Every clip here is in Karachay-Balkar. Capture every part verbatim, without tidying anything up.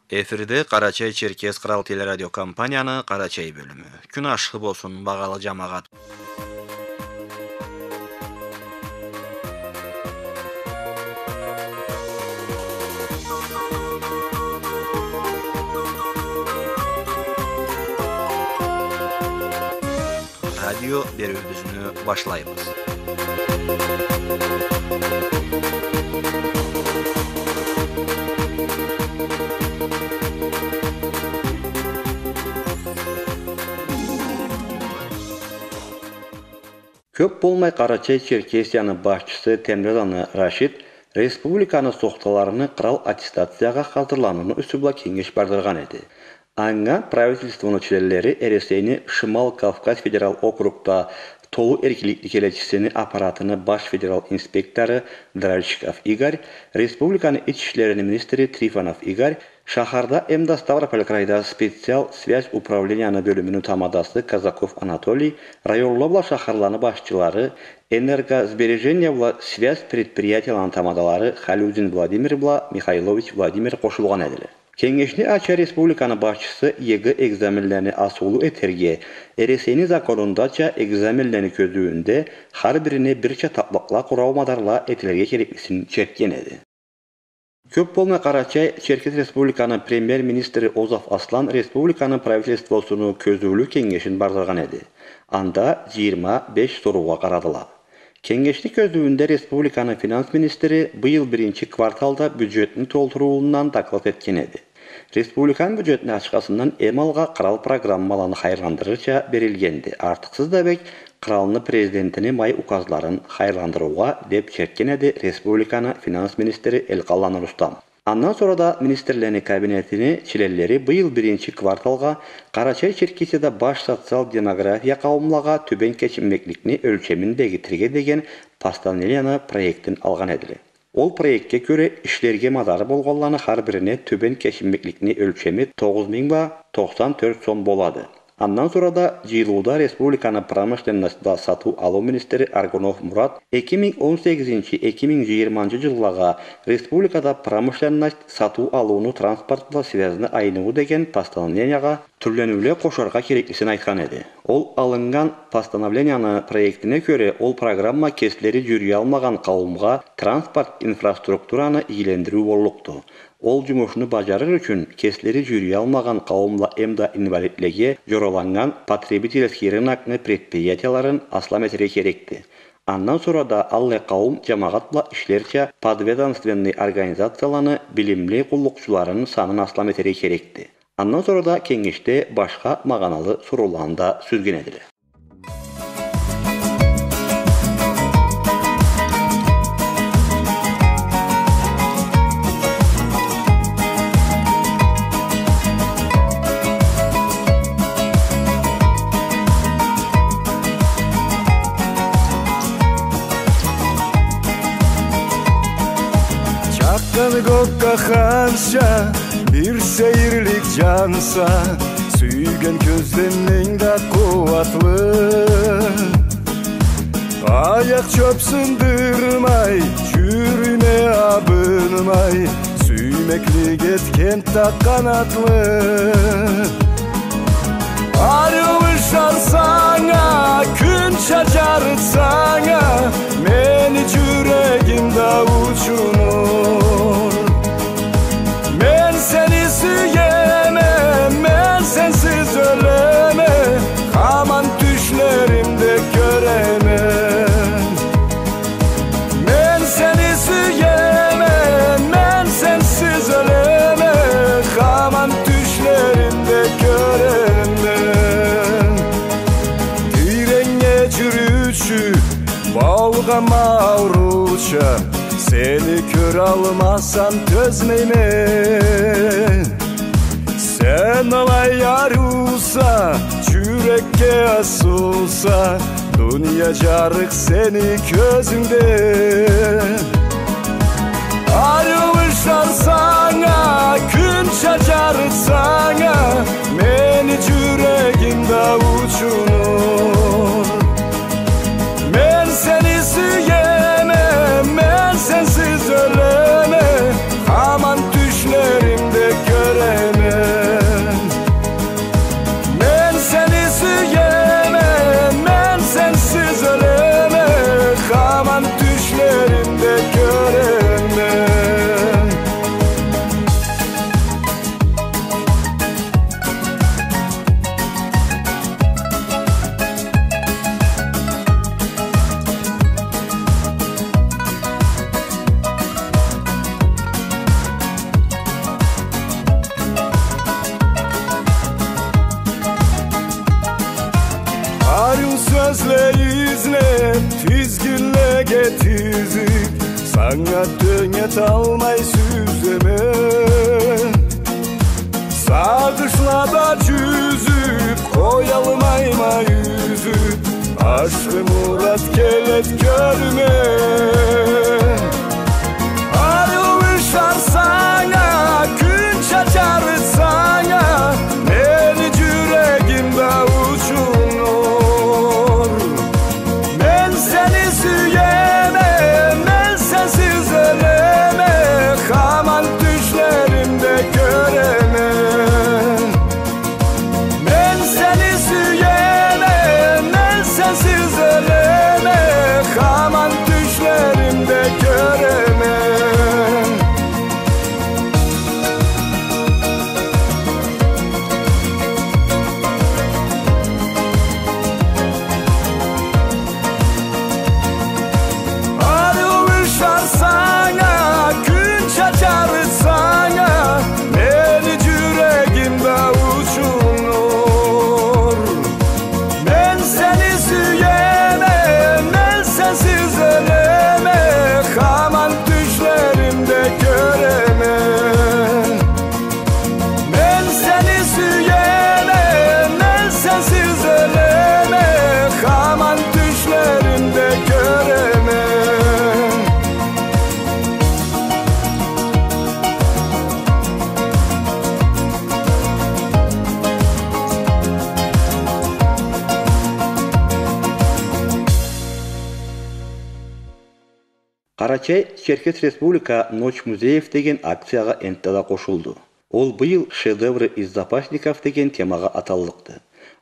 Эфирде Къарачай-Черкес кърал телерадиокомпанияны Къарачай бёлюмю. Кюн ашхы болсун, багъалы джамагъат. Радио бериуюбюзню башлайбыз. Кёп болмай Къарачай-Черкесияны башчысы Темрезаны Рашид республиканы сохталарыны кърал аттестациягъа хазырланууну юсю бла кенгеш бардыргъан эди. Анга правительствону членлери Эресейни Шимал Кавказ федерал округда толу эркинликни келечисини аппаратыны баш федерал инспектору Дральщиков Игорь, республиканы ич ишлерини министри Трифонов Игорь, шахарда эмда Ставрополь крайда специал связь управленияны бёлюмюню тамадасы Казаков Анатолий, районла бла шахарланы башчылары, энергосбережение бла связь предприятияланы тамадалары Халюзин Владимир бла Михайлович Владимир къошулгъан эдиле. Кенгешни ача республиканы башчысы ЕГЭ экзаменлени асыулу этерге, Эресейни законундача экзаменлени кёзюуюнде хар бирине бирча татлыкъла къурау мадарла этилирге кереклисин чертген эди. Кёп болмай Къарачай-Черкес Республиканы премьер-министри Озов Аслан республиканы правительствосуну кёзюулю кенгешин бардыргъан эди. Анда джыйырма беш соруугъа къарадыла. Кенгешни кёзюуюнде республиканы финанс министри быйыл биринчи кварталда бюджетни толтуруундан доклад этген эди. Республиканы бюджетни ачхасындан эм алгъа кърал программаланы хайырландырырча берилгенди. Артыкъсыз да бек, къралны президентини май указларын хайырландырыугъа, деб чертген эди республиканы финанс министри Элкъалланы Рустам. Андан сора да министрлени кабинетини членлери быйыл биринчи кварталгъа Къарачай-Черкесияда баш социал-демография къауумлагъа тюбен кечинмекликни ёлчемин бегитирге деген постановленияны проектин алгъан эдиле. Ол проектге кёре, ишлерге мадары болгъанланы хар бирине тюбен кечинмекликни ёлчеми тогъуз минг бла токъсан тёрт сом болады. Андан сора да джыйылыуда республиканы промышленность бла сатыу-алыу министри Аргунов Мурат эки минг он сегизинчи, эки минг джыйырманчы джыллагъа республикада промышленность, сатыу-алыуну транспорт бла связьны айныуу деген постановлениягъа тюрлениуле къошаргъа кереклисин айтхан эди. Ол алыннган постановленияны проектине кёре, ол программа кеслери джюрюялмагъан къауумгъа транспорт инфраструктураны ийилендириу боллукъду. Ол джумушну баджарыр ючюн кеслери джюрюялмагъан къауумла эмда инвалидлеге джораланнган потребительский рынокну предприятияларын аслам этерге керекди. Андан сора да аллай къауум джамагъат бла ишлерча подведомственный организацияланы билимли къуллукъчуларын санын аслам этерге керекди. Андан сора да кенгешде башха магъаналы сорууланы да сюзген эдиле. Чакъгъан кокка ханча бир сейирлик джанса, сюйген кёзден энг да къууатлы. Аякъ чёп сындырмай, джюрюйме абынмай, сюймеклик этген да къанатлы. Ариу ышансанг а, кюнча джарытсанг а, мени джюрегим да учунур. Мен сени сюеме, мен сенсиз ёлеме, хаман тюшлеримде кёреме. Мен сени сюеме, мен сенсиз ёлеме, хаман тюшлеримде кёреме. Тиреннге джюрюучю болгъанма ауруча, сени кёралмасам тёзмейме. Сен алай ариуса, джюрекге асыуса, дуния джарыкъ сени кёзюнгде. Ариу ышансанг а, кюнча джарытсанг а, мени джюрегим да учунур. Мен сени сюеме, мен сенсиз ёлеме, хаман тюшлеримде кёреме. Анга тёнгеталмай сюземе, сагъышла бла джюзюб, къоялмайма юзюб, ашхы Мурат келед кёрме. Ариу ушар санга, кюн чачарыд санга, мени джюрегимде учун нур. Мен сени сюеме, мен сенсиз ёлеме, хаман тюшлеримде кёреме. Мен сени сюеме, мен сенсиз ёлеме, хаман тюшлеримде кёреме. Ариу ушар санга, кюн чачарыд санга, мени джюрегимде учун нур. Мен сени сюеме, мен сенсиз ёлеме, хаман тюшлеримде кёреме. Мен сени сюеме, мен сенсиз ёлеме, хаман тюшлеримде кёреме. Къарачай-Черкес Республика «Ночь музеев» деген акциягъа энтда да къошулду. Ол быйыл «Шедевры из запасников» деген темагъа аталлыкъды.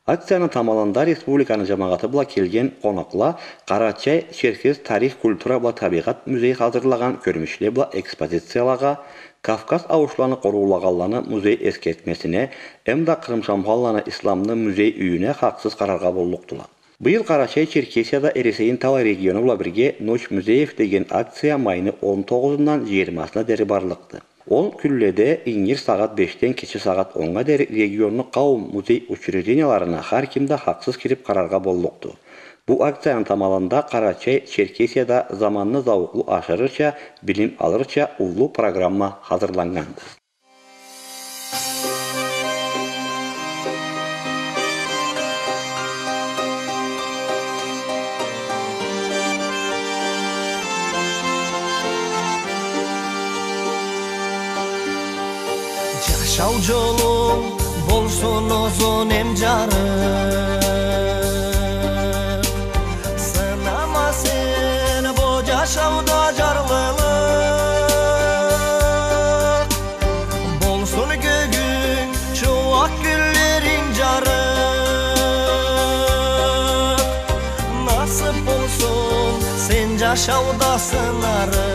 Акцияны тамалында республиканы джамагъаты бла келген къонакъла Къарачай-Черкес тарих, культура бла табигъат музей хазырлагъан кёрмюшле бла экспозициялагъа, Кавказ ауушланы къоруулагъанланы музей эсгертмесине эмда Кърымшамханланы исламлы музей юйюне хакъсыз къараргъа боллукъдула. Быйыл Къарачай-Черкесияда Эресейни талай региону бла бирге «Ночь музеев» деген акция майны он тогъузундан джыйырмасына дери барлыкъды. Ол кюнледе ингир сагъат бешден кече сагъат оннга дери регионну къауум музей учрежденияларына хар ким да хакъсыз кириб къараргъа боллукъду. Бу акцияны тамалында Къарачай-Черкесияда заманны зауукълу ашырырча, билим алырча уллу программа хазырланнганды. Джашау джолунг болсун узун эм джарыкъ. Сынама сен бу джашауда джарлылыкъ. Болсун кёгюнг чууакъ, кюнлеринг джарыкъ. Насыб болсун сен джашауда сынарыкъ.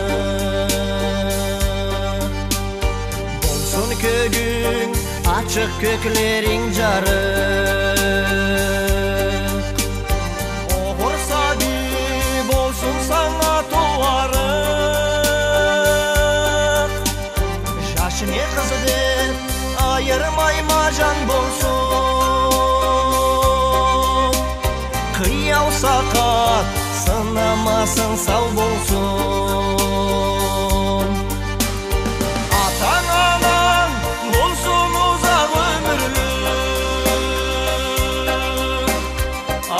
Болсун кёгюнг ачыкъ, кёклеринг джарыкъ. Огъур сабий болсун санга тууарыкъ. Джаш не къыз деб айырмайма джан болсун. Къыяу сакъат сынамасын, сау болсун. Атанг, ананг болсун узакъ ёмюрлю.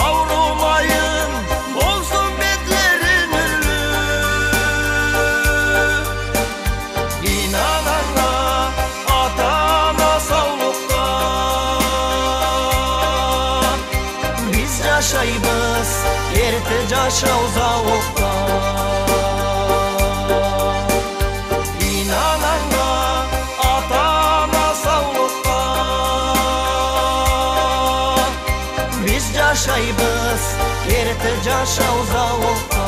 Аурумайын болсун бетлери нюрлю. Ийнан анга, ата-ана саулукъда. Биз джашайбыз эртте джашау зауукъда. Ийнан анга, ата-ана саулукъда. Биз джашайбыз эртте джашау зауукъда.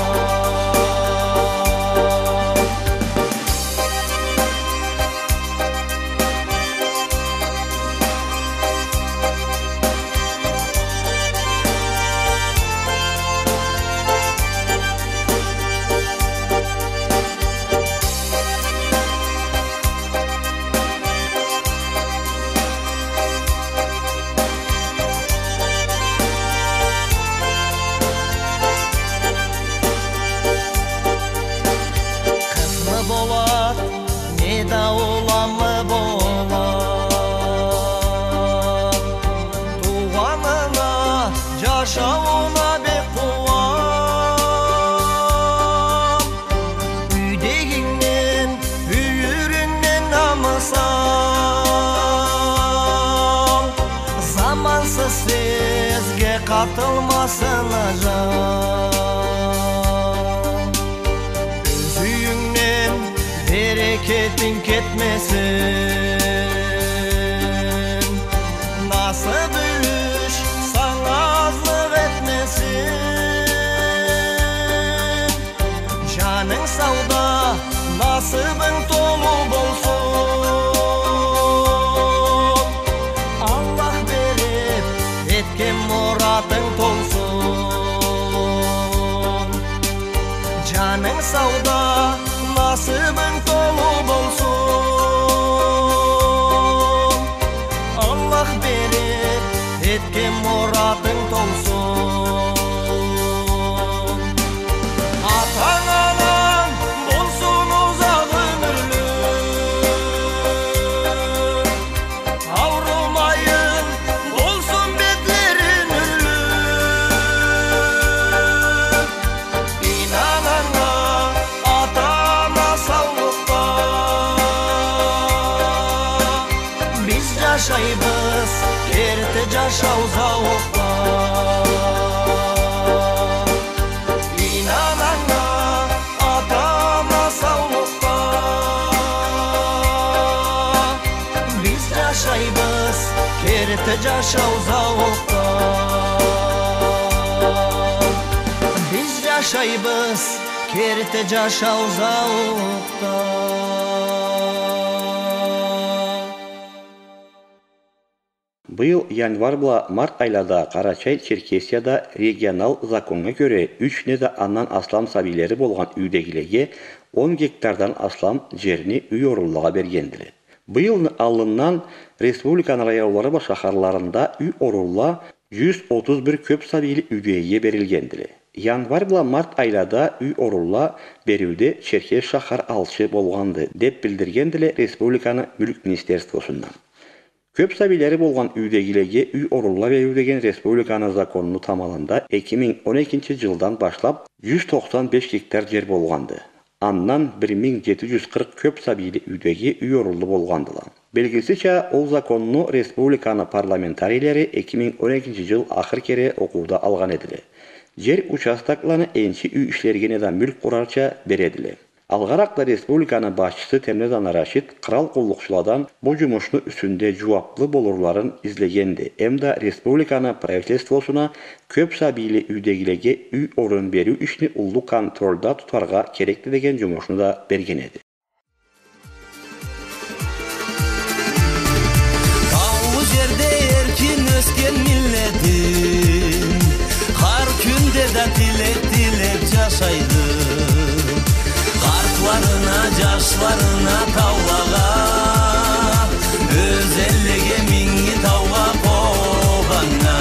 Сизге къатылмасын ажал. Ёз юйюнгден берекетинг кетмесин. Насыб юлюш санга азлыкъ этмесин. Жанынг сауда, насыбынг толу болсун. Аллах берип, этген муратынг толсун. Жанынг сауда, насыбынг толу болсун. Аллах берип, этген муратынг толсун. Атанг, ананг болсун узакъ ёмюрлю. Аурумайын болсун бетлери нюрлю. Ийнан анга, ата-ана саулукъда. Биз жашайбыз керти жашау зауукъда. Ийнан анга, ата-ана саулукъда. Биз жашайбыз керти жашау зауукъда. Биз жашайбыз керти жашау зауукъда. Быйыл январь бла март айлада Къарачай-Черкесияда регионал законнга кёре, юч неда андан аслам сабийлери болгъан юйдегилеге он гектардан аслам жерни юй орунлугъа бергендиле. Быйылны аллындан республиканы районлары бла шахарларында юй орунла жюз отуз бир кёп сабийле юйдегиге берилгендиле. Январь бла март айлада юй орунла бериуде Черкес шахар алчы болгъанды, деп билдиргендиле республиканы Мюлк министерствосундан. Кёп сабийлери болгъан юйдегилеге юй орунла бериу деген республиканы законуну тамалында эки минг он экинчи жылдан башлап жюз токъсан беш гектар жер болгъанды. Андан бир минг жети жюз къыркъ кёп сабийле юйдеги юй орунлу болгъандыла. Белгилисича, ол законну республиканы парламентарийлери эки минг он экинчи жыл ахыр кере окъууда алгъан эдиле. Жер участокланы энчи юй ишлерге неда мюлк къурарча бередиле. Алгъаракъда республиканы башчысы Темрезаны Рашид кърал къуллукъчуладан бу жумушну юсюнде жууаплы болурларын излегенди, эмда республиканы правительствосуна кёп сабийле юйдегилеге юй орун бериу ишни уллу контрольда тутаргъа керекди деген жумушну да берген эди. Таулу жерде эркин ёсген миллетим, хар кюнде да тилек тилеп жашайды. Къартларына, жашларына, таулагъа, ёзенлеге, Минги таугъа, Къобаннга.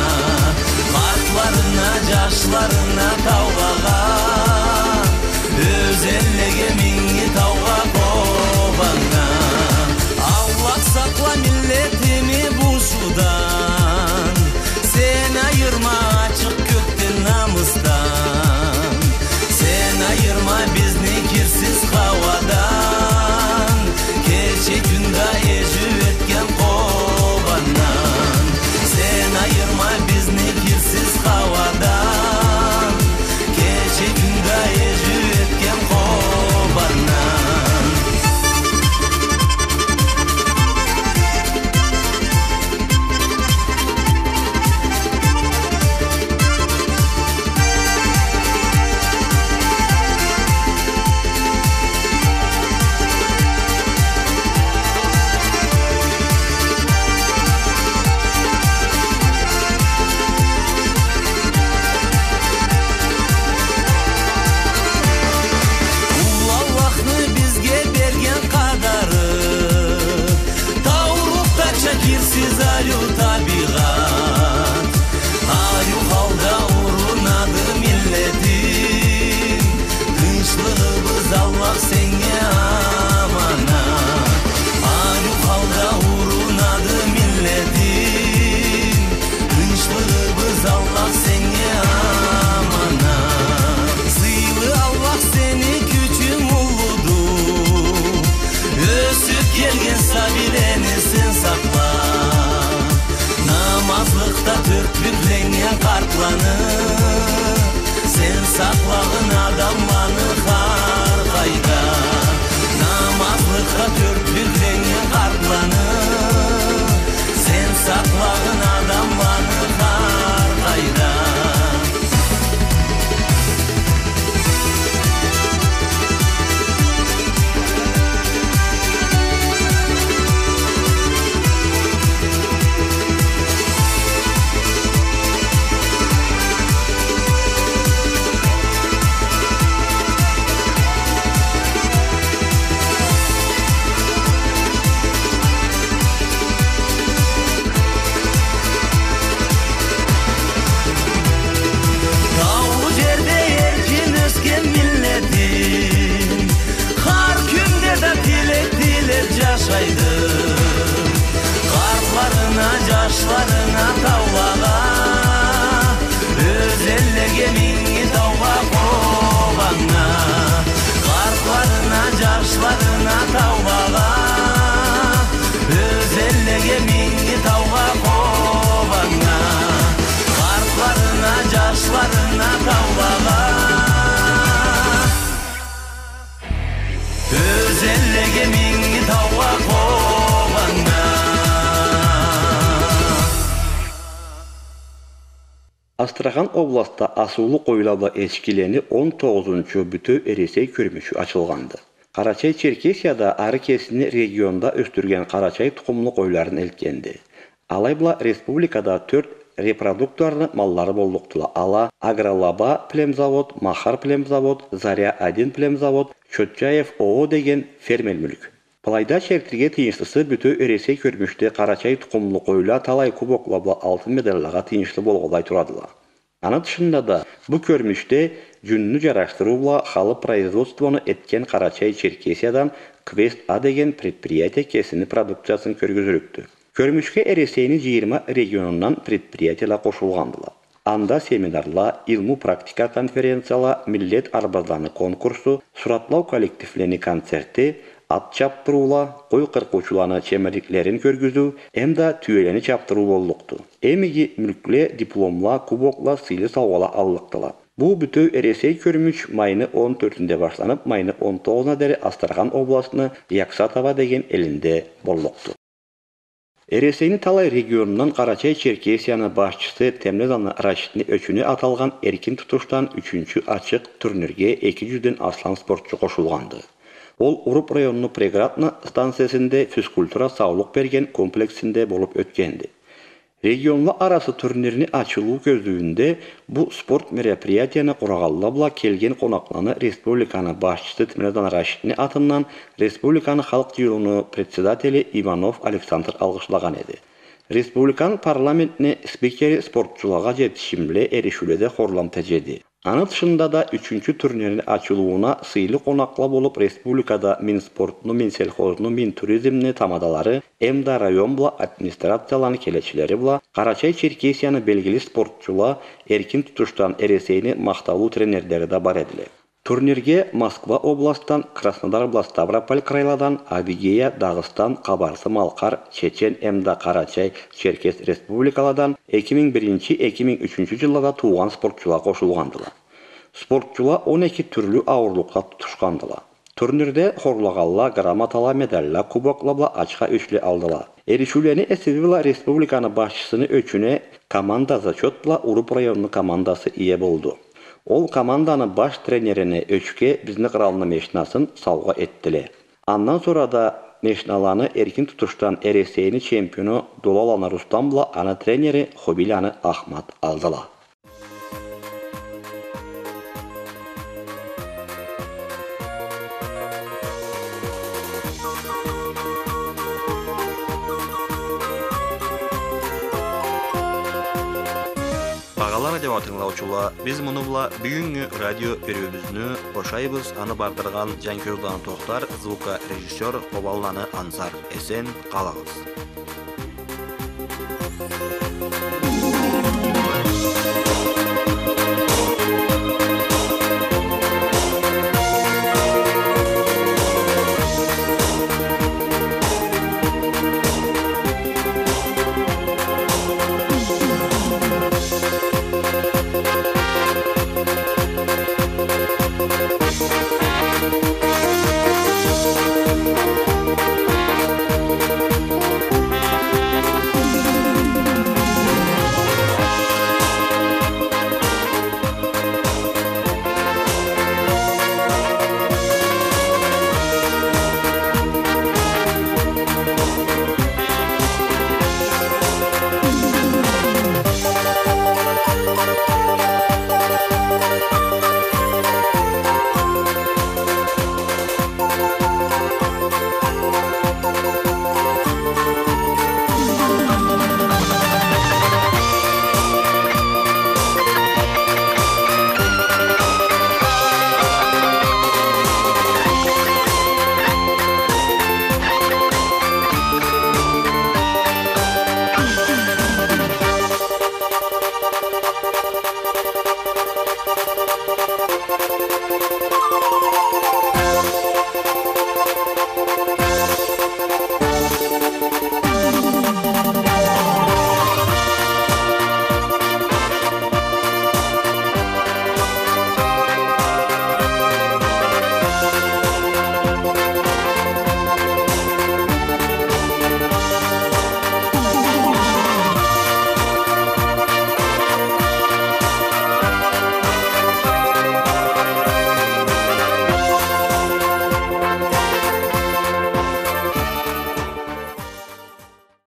Къартларына, жашларына, таулагъа, ёзенлеге, Минги таугъа, Къобаннга. Аллах, сакъла миллетими бузуудан. Сен айырма ачыкъ кёкден намысдан. Сен айырма бизни кирсиз хауадан. Кече-кюн да эжиу этген Къобандан. Сен айырма бизни кирсиз хауадан. Кече-кюн да эжиу этген Къобандан. Уллу Аллахны бизге берген къадары, таурухтача кирсиз ариу табигъат. Ариу халда урунады миллетим, тынчлыгъыбыз, Аллах, сеннге аманат. Ариу халда урунады миллетим, тынчлыгъыбыз, Аллах, сеннге аманат. Сыйлы Аллах, сени кючюнг уллуду, ёсюп келген сабийлени сен сакъла. Сен сакълагъын адамланы хар къайда, намазлыкъгъа тёртлюкленнген къартланы, сен сакълагъын адамланы хар къайда. Таулу джерде эркин ёсген миллетим, хар кюнде да тилек тилеп джашайды. Къартларына, джашларына, таулагъа, ёзенлеге, Минги таугъа, Къобаннга. Къартларына, джашларына, таулагъа, ёзенлеге, Минги таугъа, Къобаннга. Къартларына, джашларына, таулагъа. Ёзенлеге, Минги таугъа, Къобаннга. Астрахан областда асыулу къойла бла эчкилени он тогъузунчу Бютеу Эресей кёрмючю ачылгъанды. Къарачай-Черкесияда ары кесини регионда ёсдюрген къарачай тукъумлу къойларын элтгенди. Алай бла республикада тёрт репродукторну маллары боллукъдула. Ала Агролаба племзавод, Махар племзавод, Заря один племзавод, Чотчаев ООО деген фермер мюлк. Былайда чертирге тыйыншлысы, Бютеу Эресей кёрмючде къарачай тукъумлу къойла талай кубокла бла алтын медаллагъа тыйыншлы болгъанлай турадыла. Аны тышында да, бу кёрмючде джюнню джарашдырыу бла халы производствону этген Къарачай-Черкесиядан Квест А деген предприятие кесини продукциясын кёргюзюрюкдю. Кёрмючге Эресейни джыйырма регионундан предприятиела къошулгъандыла. Анда семинарла, илму-практика конференцияла, миллет арбазланы конкурсу, суратлау коллективлени концерти, ат чабдырыула, къой къыркъыучуланы чемерликлерин кёргюзюу эмда тюелени чабдырыу боллукъду. Эм иги мюлкле, дипломла, кубокла, сыйлы саугъала аллыкъдыла. Бу Бютеу Эресей кёрмюч майны он тёртюнде башланып, майны он тогъузуна дери Астрахан областны Яксатово деген элинде боллукъду. Эресейни талай регионундан Къарачай-Черкесияны башчысы Темлезаны Рашидни ёчюне аталгъан эркин тутушдан ючюнчю ачыкъ турнирге эки джюзден аслам спортчу къошулгъанды. Ол Уруб районну Преградны станциясында физкультура саулукъ берген комплексинде болуп ётгенди. Регионла арасы турнирни ачылыу кёзюуюнде бу спорт мероприятияны къурагъанла бла келген къонакъланы республиканы башчысы Темлезаны Рашидни атындан республиканы Халкъ Джыйылыуну председатели Иванов Александр алгъышлагъан эди. Республиканы парламентни спикери спортчулагъа джетишимле, эришиуледе хорлам теджеди. Аны тышында да ючюнчю турнирни ачылыууна сыйлы къонакъла болуп республикада Минспортну, Минсельхозну, Минтуризмни тамадалары эмда район бла администрацияланы келечилери бла Къарачай-Черкесияны белгили спортчула, эркин тутушдан Эресейни махтаулу тренерлери да бар эдиле. Турнирге Москва областдан, Краснодар бла Ставрополь крайладан, Адыгея, Дагъыстан, Къабарсы-Малкъар, Чечен эмда Къарачай-Черкес республикаладан эки минг биринчи, эки минг ючюнчю джыллада туугъан спортчула къошулгъандыла. Спортчула он эки тюрлю ауурлукъда тутушхандыла. Турнирде хорлагъанла грамотала, медалла, кубокла бла ачха ёчле алдыла. Эришиулени эсеби бла республиканы башчысыны ёчюне команда зачёт бла Уруб районну командасы ие болду. Ол команданы баш тренерине ёчге бизни къралны мешнасын саугъа этдиле. Андан сора да мешналаны эркин тутушдан Эресейни чемпиону Долаланы Рустам бла аны тренери Хубийланы Ахмат алдыла. Багъалы радио тынгылаучула, биз муну бла бюгюннгю радио бериуюбюзню бошайбыз. Аны бардыргъан Джанкёзланы Тохтар, звукорежиссёр Къобанланы Ансар. Эсен къалыгъыз.